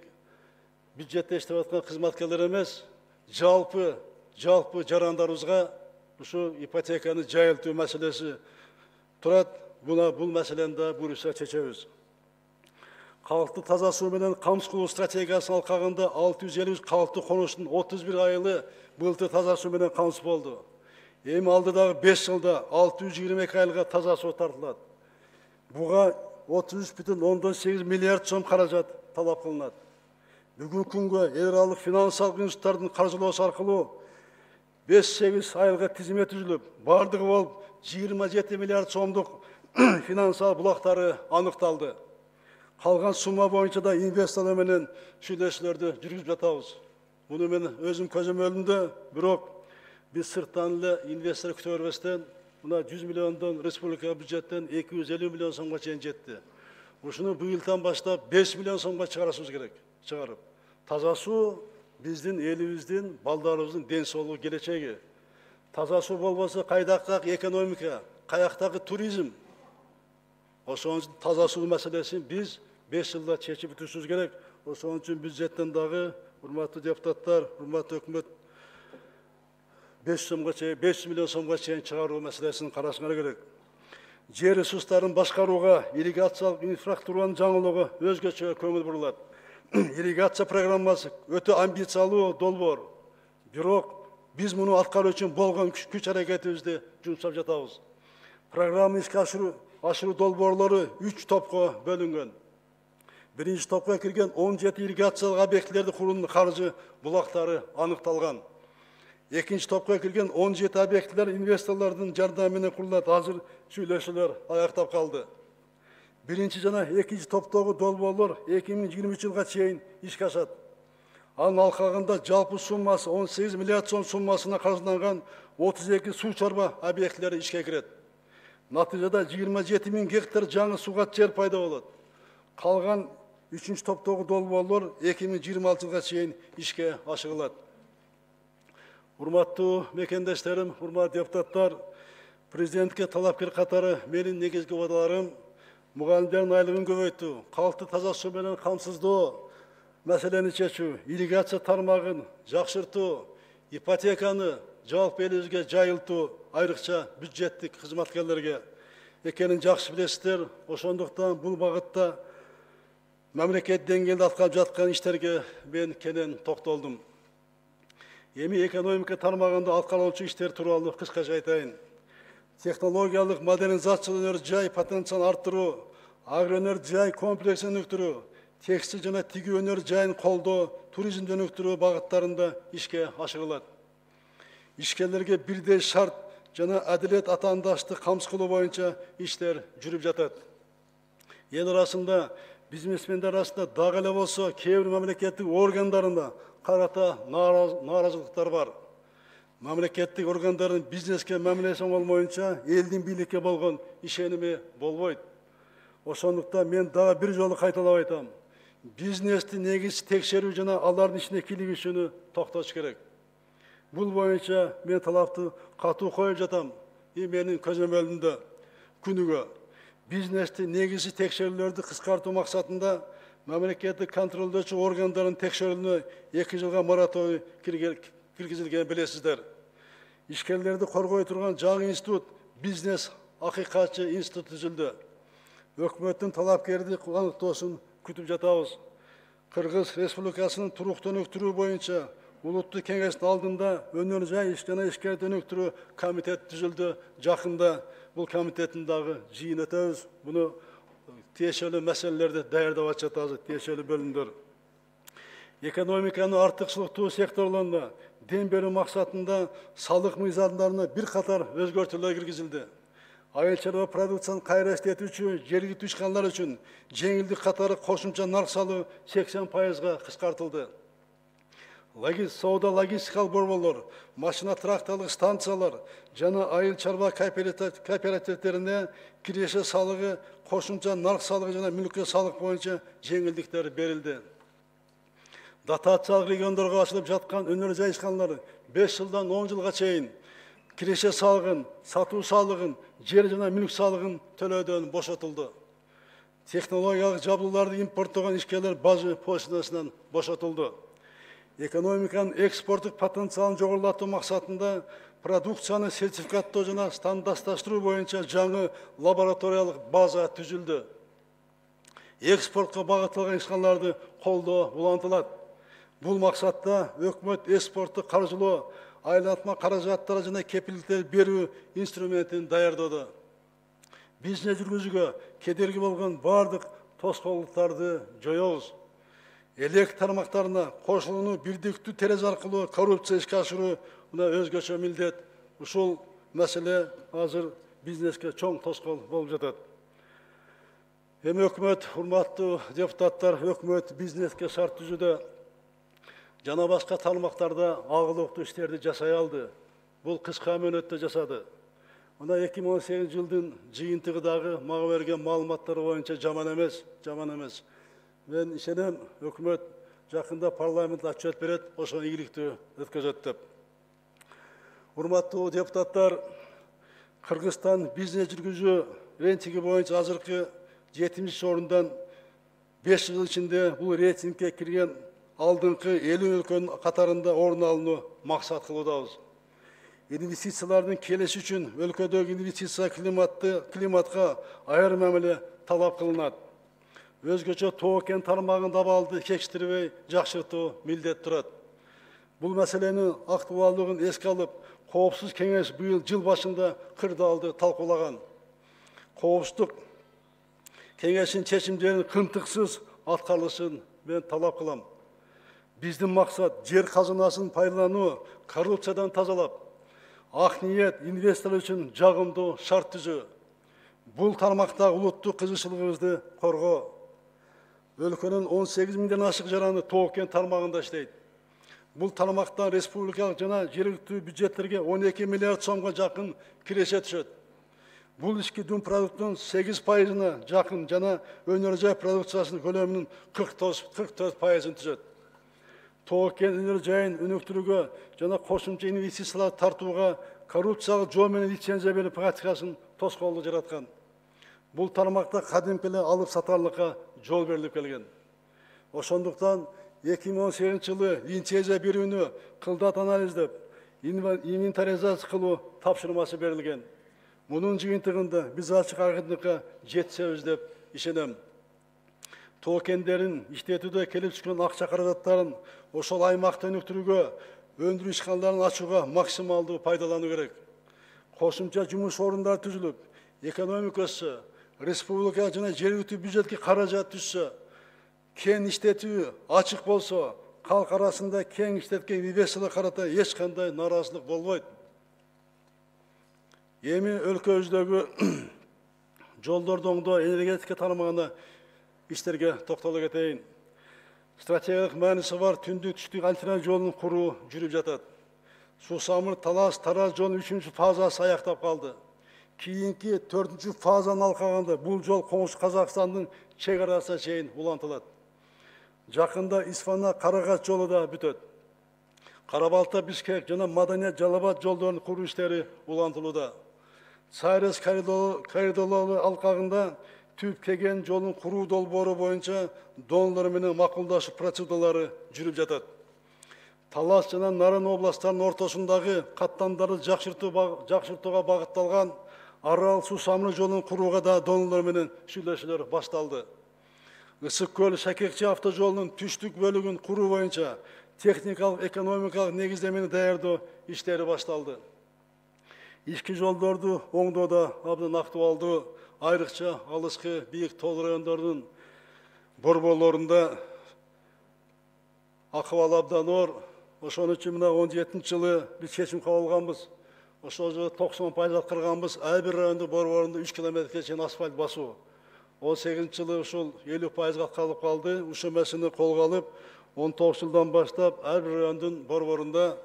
бюджетте иштеп аткан кызматкерлер эмес, жалпы жалпы жарандарыбызга ушу ипотеканы жайылтуу маселеси турат. Буна бул маселени да буюрса чечебиз. Калкты таза суу менен камсыз кылуу стратегиясынын алкагында алты жүз элүү калкты конуштун отуз бир айылы былтыр таза суу менен камсыз болду. Эми алдыдагы беш жылда алты жүз жыйырма эки айылга таза суу тартылат. Буга отуз үч бүтүн ондон сегиз миллиард сом каражат талап кылынат. Бүгүнкү күнгө эл аралык финансылык институттардын каржылоосу аркылуу беш сегиз айылга тизме түзүлүп, бардыгы болуп жыйырма жети миллиард сомдук финансылык булактары аныкталды. Калган сумма боюнча да инвесторлор менен сүйлөшүүлөрдү жүргүзүп жатабыз. Муну мен өзүм көзөмөлүмдө, бирок биз сырттан эле инвестор күтө бербестен, мына жүз миллиондон республика бюджеттен эки жүз элүү миллион сомго чейин жетти. Ушуну быйылдан баштап беш миллион сомго чыгарышыбыз керек. Чыгарып. Таза суу биздин элибиздин, балдарыбыздын ден соолугу, келечеги. Таза суу болбосо кайдактагы экономика, каяктагы туризм. Ошон үчүн таза суу маселесин биз беш жылда чечип бүтүрүшүбүз керек. Ошон үчүн бюджеттен дагы, урматтуу депутаттар, урматтуу өкмөт, беш жүз миллион сомго чейин чыгаруу маселесин карашыңар керек. Жер ресурстарын башкарууга ирригациялык инфраструктуранын жаңылыгы өзгөчө көңүл бурулат. Ирригация программасы өтө амбициялуу долбоор. Бирок биз муну аткаруу үчүн болгон күч аракетибизди жумшап жатабыз. Программа ишке ашыруу ашыруу долбоорлору үч топко бөлүнгөн. Биринчи топко кирген он жети ирригациялык объектилерди курууунун каржы булактары аныкталган. Экинчи топко кирген он жети объектилер инвесторлордун жардамы менен курулат. Азыр сүйлөшүүлөр аяктап калды. Биринчи жана экинчи топтогу долбоорлор эки миң жыйырма үч жылга чейин ишке ашат. Анын алкагында жалпы суммасы он сегиз миллиард сом суммасына каржыланган отуз эки суу чарба объектилери ишке кирет. Натыйжада жыйырма жети миң гектар жаңы сугат жер пайда болот. Калган үчүнчү топтогу долбоорлор эки миң жыйырма алты жылга чейин ишке ашырылат. Урматтуу мекендештерим, урматтуу депутаттар, президентке талапкер катары менин негизги убадаларым мугалимдердин айлыгын көбөйтүү, калкты таза суу менен камсыздоо маселени чечүү, ирригация тармагын жакшыртуу, ипотеканы жалпы элибизге жайылтуу, айрыкча бюджеттик кызматкерлерге экенин жакшы билесиздер. Ошондуктан бул багытта мамлекет деңгээлде аткарылып жаткан иштерге мен кенен токтолдум. Эми экономика тармагында аткарылуучу иштер тууралуу кыскача айтайын. Технологиялык модернизация өнөр жай потенциалын арттыруу, агроөнөр жай комплексин өнүктүрүү, текстиль жана тигүү өнөр жайын колдоо, туризмди өнүктүрүү багыттарында ишке ашырылат. Ишкерлерге бирдей шарт жана адилет атаандаштык камсыз кылуу боюнча иштер жүрүп жатат. Эл арасында, бизнесмендер арасында дагы эле болсо кээ бир мамлекеттик органдарында карата нааразылыктар бар. Мамлекеттик органдардын бизнеске мамилеси болмоюнча элдин бийликке болгон ишеними болбойт. Ошондуктан мен дагы бир жолу кайталап айтам. Бизнести негиз текшерүү жана алардын ишине кийлигишүүнү токтотуш керек. Бул боюнча мен талапты катуу коюп жатам. И менин көзөмөлүмдө күнүгө бизнести негизи текшерүүлөрдү кыскартуу максатында мамлекеттик контролдоочу органдардын текшерүүнү эки жылга мораторий киргизилгенин билесиздер. Ишкерлерди коргой турган жаңы институт, бизнес акыйкатчы институт түзүлдү. Өкмөттүн талапкерди аныктоосун күтүп жатабыз. Кыргыз Республикасынын туруктуу өнүктүрүү боюнча улуттук кеңештин алдында өнөр жай иш жана ишкерди өнүктүрүү комитет түзүлдү. Жакында бул комитеттин дагы жыйын өтөбүз. Буну тиешелүү маселелерди даярдап жатабыз, тиешелүү бөлүмдөр. Экономиканы артыкчылыктуу секторлоруна дем берүү максатында салык мыйзамдарына бир катар өзгөртүүлөр киргизилди. Айыл чарба продукцияны кайра иштетүүчү жергиликтүү ишканалар үчүн жеңилдик катары кошумча нарк салыгы сексен пайызга кыскартылды. Соода логистикалык борборлор, машина тракторлук станциялар жана айыл чарба кооперативдерине киреше салыгы, кошумча нарк салыгы жана мүлккө салык боюнча жеңилдиктер берилди. Дотациялык региондорго ачылып жаткан өнөр жай ишканалары беш жылдан он жылга чейин киреше салыгын, сатуу салыгын, жер жана мүлк салыгын төлөөдөн бошотулду. Технологиялык жабдууларды импорттогон ишкерлер бажы пошлинасынан бошотулду. экономиканын экспорттук потенциалын жогорулатуу максатында продукцияны сертификаттоо жана стандартташтыруу боюнча жаңы лабораториялык база түзүлдү. Экспортко багытталган ишканаларды колдоо улантылат. Бул максатта өкмөт экспортту каржылоо, айланма каражаттары жана кепилдиктер берүү инструментин даярдоодо. Бизнес жүргүзүүгө кедерги болгон бардык тоскоолдуктарды жоёбуз. Элек тармактарына кошулууну бирдиктүү терезе аркылуу коррупция ишке ашыруу мына өзгөчө милдет. Ушул маселе азыр бизнеске чоң тоскоол болуп жатат. Эми өкмөт, урматтуу депутаттар, өкмөт бизнеске шарт түзүүдө жана башка тармактарда агылыктуу иштерди жасай алды. Бул кыска мөөнөттө жасады. Мына эки миң он сегизинчи жылдын жыйынтыгындагы мага берген маалыматтар боюнча жаман эмес, жаман эмес. Мен ишенем, өкмөт жакында парламент отчет берет, ошону ийгиликтүү өткөзөт деп. Урматтуу депутаттар, Кыргызстан бизнес жүргүзүү рейтинги боюнча азыркы жетимиш орундан беш жыл ичинде бул рейтингге кирген алдыңкы элүү өлкөнүн катарында орун алууну максат кылуудабыз. Инвестициялардын келиши үчүн өлкөдөгү инвестиция климатты климатка айрым мамиле талап кылынат. Өзгөчө тоо кен тармагында абалды кечиктирбей жакшыртуу милдет турат. Бул маселенин актуалдыгын эске алып, Коопсуздук кеңеш быйыл жыл башында кырдаалды талкуулаган. Коопсуздук кеңештин чечимдерин кымтыксыз аткарылышын мен талап кылам. Биздин максат жер казынасын пайдалануу, коррупциядан тазалап, ак ниет инвестор үчүн жагымдуу шарт түзүү. Бул тармакта улуттук кызыкчылыгыбызды коргоо. Өлкөнүн он сегиз миңден ашык жараны тоо кен тармагында иштейт. Бул тармактан республикалык жана жергиликтүү бюджеттерге он эки миллиард сомго жакын киреше түшөт. Бул ички дүң продукттун сегиз пайызына жакын жана өнөр жай продукциясынын көлөмүнүн кырк төрт пайызын түзөт. Тоо кен өнөр жайын өнүктүрүүгө жана кошумча инвестициялар тартууга коррупциялык жол менен лицензия берүү практикасын тоскоолдук жараткан. Бул тармакта кадимки эле алып сатарлыкка жол берилип келген. Ошондуктан эки миң он сегизинчи жылы лицензия берүүнү кылдат анализдеп, инвентаризация кылуу тапшырмасы берилген. Мунун жыйынтыгында биз ачык акындыкка жетсебиз деп ишенем. Тоо кендерин иштетүүдө келип түшкөн акча каражаттарын ошол аймакта өнүктүрүүгө, өндүрүү ишканаларын ачууга максималдуу пайдалануу керек. Кошумча жумуш орундары түзүлүп, экономика өссө, республика жана жергиликтүү бюджетке каражат түшсө, кен иштетүү ачык болсо, калк арасында кен иштеткен инвесторлорго карата эч кандай нааразычылык болбойт. Эми өлкөбүздөгү жолдорду оңдоо, энергетика тармагына иштерге токтоло кетейин. Стратегиялык мааниси бар түндүк түштүк альтернатив жолун куруу жүрүп жатат. Суу-Самыр Талас Тараз жолунун үчүнчү фазасы аяктап калды. Кийинки төртүнчү фазаны алкаганда бул жол Коңшу Казакстандын чек арасына чейин улантылат. Жакында Исфана Карагач жолу да бүтөт. Кара-Балта Бишкек жана Маданият Жалал-Абад жолдорунун куруу иштери улантылууда. Сайрес коридорлору алкагында Түп Кеген жолун куруу долбоору боюнча донорлор менен макулдашуу процедуралары жүрүп жатат. Талас жана Нарын областтарынын ортосундагы каттамдарды жакшыртууга багытталган Арал Суу-Самыр жолун курууга да донорлор менен сүйлөшүүлөр башталды. Ысык көл Шакекчи автожолунун түштүк бөлүгүн куруу боюнча техникалык экономикалык негиздемени даярдоо иштери башталды. Ички жолдорду оңдоодо абдан актуалдуу, айрыкча алыскы бийик тоо райондордун борборлорунда акыбал абдан оор. Ошон үчүн мына он жетинчи жылы биз чечим кабыл алганбыз. Ошол жылы токсон пайыз аткарганбыз. Ар бир райондун борборунда үч километрге чейин асфальт басуу. он сегизинчи жылы ушул элүү пайызга аткарылып калды. Ушул маселени колго алып, он тогуз жылдан баштап ар бир райондун борборунда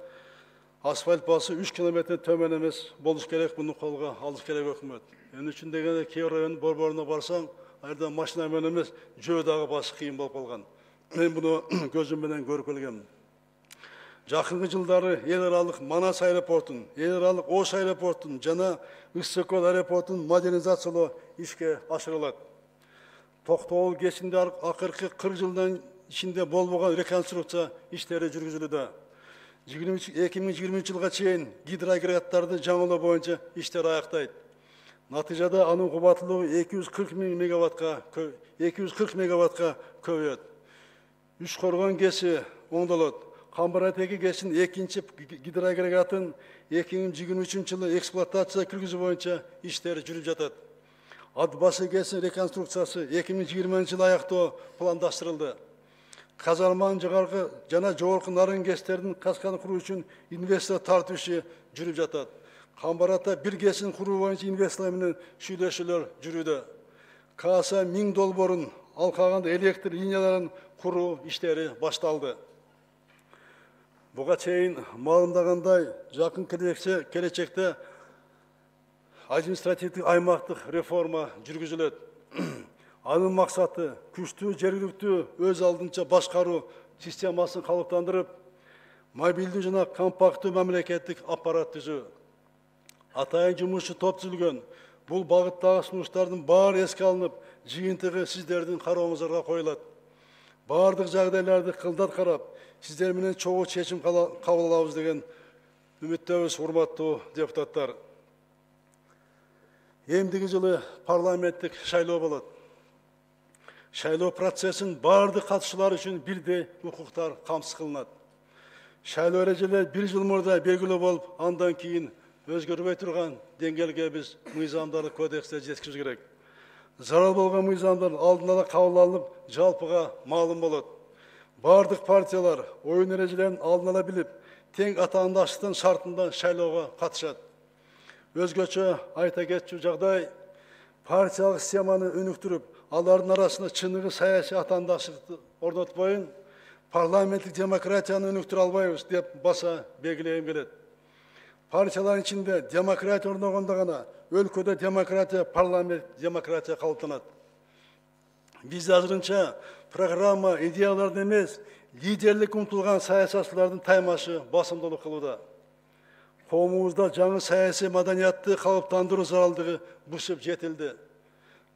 асфальт басуу үч километрден төмөн эмес болуш керек. Муну колго алыш керек өкмөт. Эмне үчүн дегенде кээ бир райондун борборуна барсаң, айда машина менен эмес, жөө дагы басыш кыйын болуп калган. Мен муну көзүм менен көрүп келгем. Жакынкы жылдары эл аралык Манас аэропортун, эл аралык Ош аэропортун жана Ысык көл аэропортун модернизациялоо ишке ашырылат. Токтогул кечинде акыркы кырк жылдан ичинде болбогон реконструкция иштери жүргүзүлүүдө. эки миң жыйырманчы жылга чейин гидроагрегаттарды жаңылоо боюнча иштер аяктайт. Натыйжада анын кубаттуулугу эки жүз кырк миң мегаваттка эки жүз кырк мегаваттка көбөйөт. Үч коргон ГЭСи оңдолот. Камбар-Атеги ГЭСинин экинчи гидроагрегатын эки миң жыйырма үчүнчү жылы эксплуатация киргизүү боюнча иштер жүрүп жатат. Ат башы ГЭСинин реконструкциясы эки миң жыйырманчы жылы аяктоо пландаштырылды. Казарманын жогорку жана жогорку нарын ГЭСтердин касканы куруу үчүн инвестор тартуу иши жүрүп жатат. Камбар-Ата бир ГЭСин куруу боюнча инвесторлор менен сүйлөшүүлөр жүрүүдө. КАСа миң долбоорун, ал калган электр линияларын куруу иштери башталды. Буга чейин маалымдагандай, жакын келечекте административдик аймактык реформа жүргүзүлөт. Анын максаты күчтүү жергиликтүү өз алдынча башкаруу системасын калыптандырып, мобилдүү жана компакттуу мамлекеттик аппарат түзүү. Атайын жумушчу топ түзүлгөн. Бул багыттагы сунуштардын баары эске алынып, жыйынтыгы сиздердин карооңуздарга коюлат. Бардык жагдайларды кылдат карап, сиздер менен чогуу чечим кабыл алабыз деген үмүттөбүз, урматтуу депутаттар. Эмдиги жылы парламенттик шайлоо болот. Шайлоо процессин бардык катышуулар үчүн бирдей укуктар камсыз кылынат. Шайлоо эрежелери бир жыл мурда белгилүү болуп, андан кийин өзгөрбөй турган деңгээлге биз мыйзамдарды кодексте жеткизиш керек. Зарыл болгон мыйзамдар алдын ала кабыл алынып, жалпыга маалым болот. Бардык партиялар оюн эрежелерин алдын ала билип, тең атаандаштыктын шартында шайлоого катышат. Өзгөчө айта кетчү жагдай, партиялык системаны өнүктүрүп, алардын арасында чыныгы саясий атаандаштыкты орнотпойын, парламенттик демократияны өнүктүрө албайбыз деп баса белгилегим келет. Партиялардын ичинде демократия орногондо гана өлкөдө демократия, парламент демократия калыптанат. Биз азырынча программа, идеяларды эмес, лидерлик умтулган саясатчылардын таймашы басымдуулук кылууда. Коомубузда жаңы саясий маданиятты калыптандыруу зарылдыгы бушуп жетилди.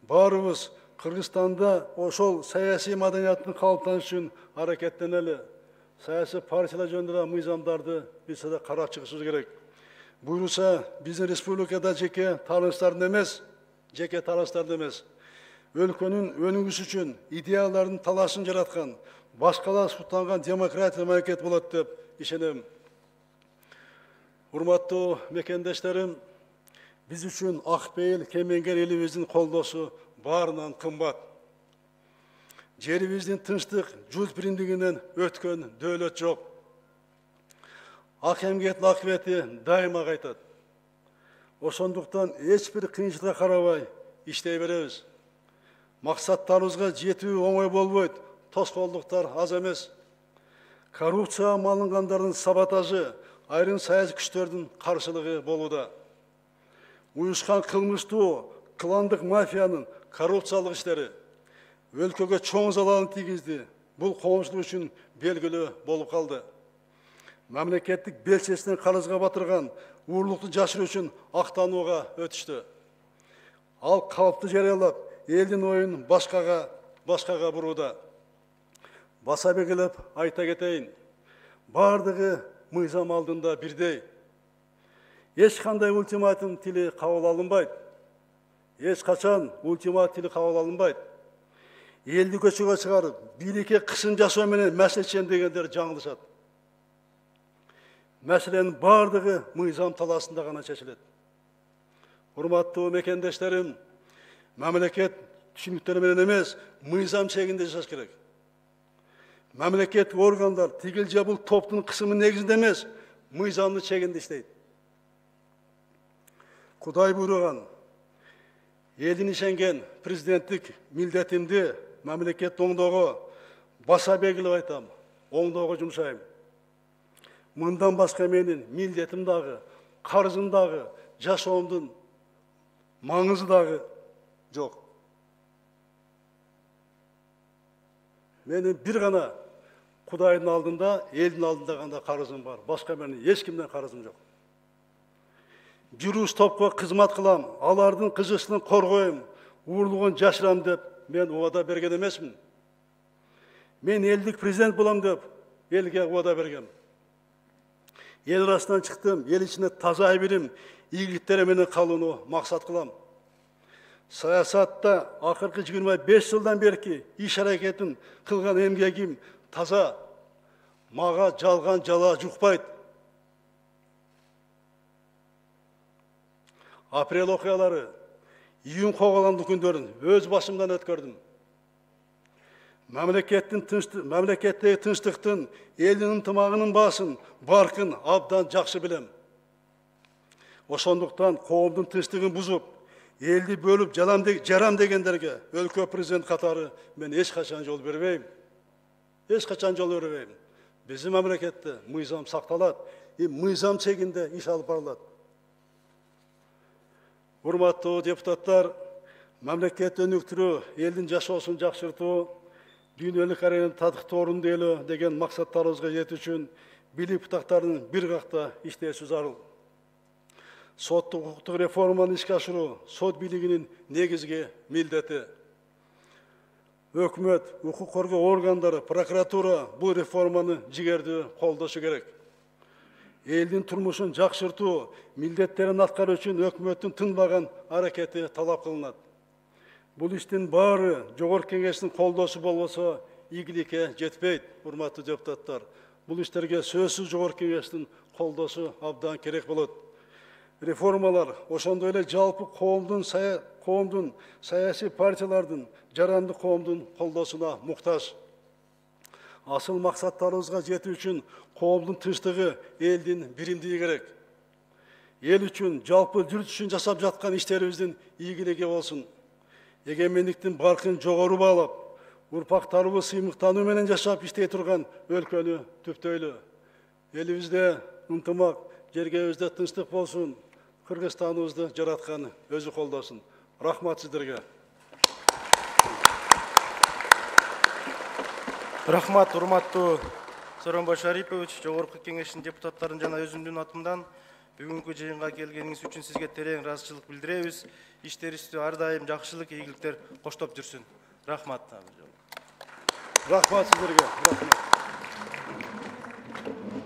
Баарыбыз Кыргызстанда ошол саясий маданияттын калыптанышы үчүн аракеттенели. Саясий партиялар жөнүндө мыйзамдарды биз да карап чыгышыбыз керек. Буюрса, биздин республикада жеке таанычтардын эмес, жеке таанычтардын эмес, өлкөнүн өнүгүшү үчүн идеялардын талашын жараткан, башкалар суттанган демократия мамлекет болот деп ишенем. Урматтуу мекендештерим, биз үчүн ак пейил кемеңгер элибиздин колдоосу баарынан кымбат. Жерибиздин тынчтык, журт биримдигинен өткөн дөөлөт жок. Ак эмгектин акыбети дайыма кайтат. Ошондуктан эч бир кыйынчылыкка карабай иштей беребиз. Максаттарыбызга жетүү оңой болбойт, тоскоолдуктар аз эмес. Коррупцияга малынгандардын саботажы, айрым саясий күчтөрдүн каршылыгы болууда. Уюшкан кылмыштуу, кландык мафиянын коррупциялык иштери өлкөгө чоң залалын тийгизди. Бул коомчулук үчүн белгилүү болуп калды. Мамлекеттик белчесинен карызга батырган уурлукту жашыруу үчүн актанууга өтүштү. Ал калпты жарыялап, элдин оюн башкага башкага бурууда. Баса белгилеп айта кетейин, бардыгы мыйзам алдында бирдей. Эч кандай ультиматум тили кабыл алынбайт. Эч качан ультиматум тили кабыл алынбайт. Элди көчөгө чыгарып, бийликке кысым жасоо менен маселе чечем дегендер жаңылышат. Мәселенин бардыгы мыйзам таласында гана чечилет. Урматтуу мекендештерим, мамлекет түшүнүктөр менен эмес, мыйзам чегинде жашаш керек. Мамлекеттик органдар тигил же бул топтун кысымы негизинде эмес, мыйзамдын чегинде иштейт. Кудай буйруган, элдин ишенген президенттик милдетимди мамлекет оңдоого баса белгилеп айтам, оңдоого жумшайм. Мындан башка менин милдетим дагы, карызым дагы, жашоомдун маңызы дагы жок. Менин бир гана Кудайдын алдында, элдин алдында гана карызым бар. Башка менин эч кимден карызым жок. Жүрүш топко кызмат кылам, алардын кызыкчылыгын коргойм, уурлугун жашырам деп мен убада берген эмесмин. мен элдик президент болом деп элге убада бергем. Ел арасынан чыктым, ел ичине таза айбирим, ийгиликтери менен калууну максат кылам. Саясатта акыркы жыйырма беш жылдан берки иш аракетин кылган эмгегим таза, мага жалган жала жукпайт. Апрель окуялары, июнь коголомдук күндөрүн өз башымдан өткөрдүм. Мамлекеттин тынчтык, мамлекеттеги тынчтыктын, элдин ынтымагынын баасын, баркын абдан жакшы билем. Ошондуктан коомдун тынчтыгын бузуп, элди бөлүп жарам дегендерге өлкө президент катары мен эч качан жол бербейм. Эч качан жол бербейм. Биздин мамлекетте мыйзам сакталат, мыйзам чегинде иш алып барылат. Урматтуу депутаттар, мамлекетти өнүктүрүү, элдин жашоосун жакшыртуу, дүйнөлүк аренада татыктуу орунду ээлөө деген максаттарыбызга жетүү үчүн бийлик бутактарынын бир какта иштеши зарыл. Соттук укуктук реформаны ишке ашыруу сот бийлигинин негизги милдети. Өкмөт, укук коргоо органдары, прокуратура бул реформаны жигердүү колдошу керек. Элдин турмушун жакшыртуу милдеттерин аткаруу үчүн өкмөттүн тынбаган аракети талап кылынат. Бул иштин баары Жогорку Кеңештин колдоосу болбосо ийгиликке жетпейт, урматтуу депутаттар. Бул иштерге сөзсүз Жогорку Кеңештин колдоосу абдан керек болот. Реформалар ошондой эле жалпы коомдун коомдун саясий партиялардын, жаранды коомдун колдоосуна муктаж. Асыл максаттарыбызга жетүү үчүн коомдун тынчтыгы, элдин биримдиги керек. Эл үчүн жалпы журт үчүн жасап жаткан иштерибиздин ийгилиги болсун. Эгемендиктин баркын жогору баалап, урпактарыбыз сыймыктануу менен жашап иштей турган өлкөнү түптөйлү. Элибизде ынтымак, жергебизде тынчтык болсун, Кыргызстаныбызды жараткан өзү колдосун. Рахмат сиздерге. Рахмат, урматтуу Сооронбай Шарипович, Жогорку Кеңештин депутаттарын жана өзүмдүн атымдан бүгүнкү жыйынга келгениңиз үчүн сизге терең ыраазычылык билдиребиз. Иштерибизде ар дайым жакшылык, ийгиликтер коштоп жүрсүн. Рахмат. Рахмат сиздерге. Рахмат.